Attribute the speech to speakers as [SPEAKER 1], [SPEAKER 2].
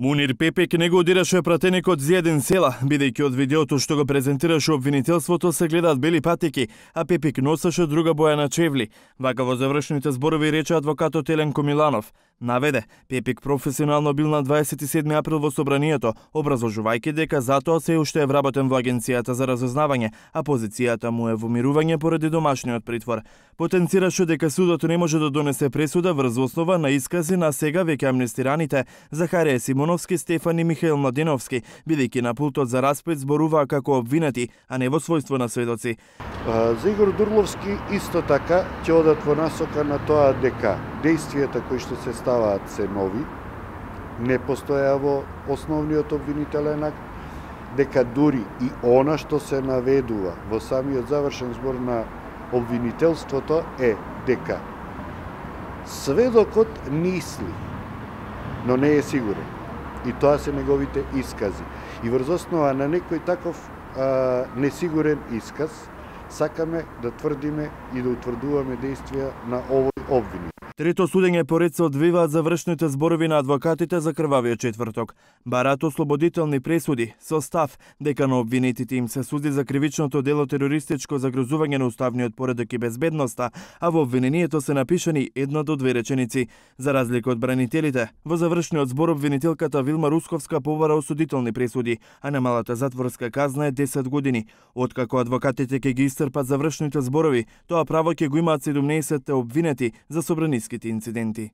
[SPEAKER 1] Мунир Пепек не го одираше пратеникот Зиједин Села, бидејќи од видеото што го презентираше обвинителството се гледаат бели патики, а Пепек носеше друга боја на чевли. Вака во завршните зборови рече адвокатот Еленко Миланов. Наведе, Пепек професионално бил на 27 април во собранието, образложувајќи дека затоа се уште е вработен во Агенцијата за разузнавање, а позицијата му е во мирување поради домашниот притвор. Потенцираше дека судот не може да донесе пресуда врз основа на искази на сега веќе амнестираните Захарија Симоновски, Стефан и Михаил Младеновски, бидејќи на пултот за распит зборуваа како обвинети, а не во својство на сведоци.
[SPEAKER 2] За Игор Дурловски исто така ќе одат во насока на тоа дека дејствијата кои што се ставаат се нови, не постоја во основниот обвинителен акт, дека дури и она што се наведува во самиот завршен збор на обвинителството е дека сведокот мисли, но не е сигурен. И тоа се неговите искази. И врз основа на некој таков несигурен исказ, сакаме да тврдиме и да утврдуваме дејствија на овој обвинител.
[SPEAKER 1] Трето судење поред се одвиваат завршните зборови на адвокатите за крвавиот четврток. Бараат ослободителни пресуди со став дека на обвинетите им се суди за кривичното дело терористичко загрозување на уставниот поредок и безбедноста, а во обвинението се напишани 1 до 2 реченици. За разлика од бранителите, во завршниот збор обвинителката Вилма Русковска побара осудителни пресуди, а намалата затворска казна е 10 години. Откако адвокатите ќе ги исцрпат завршните зборови, тоа право ќе го имаат 17 обвинети за собраниските инциденти.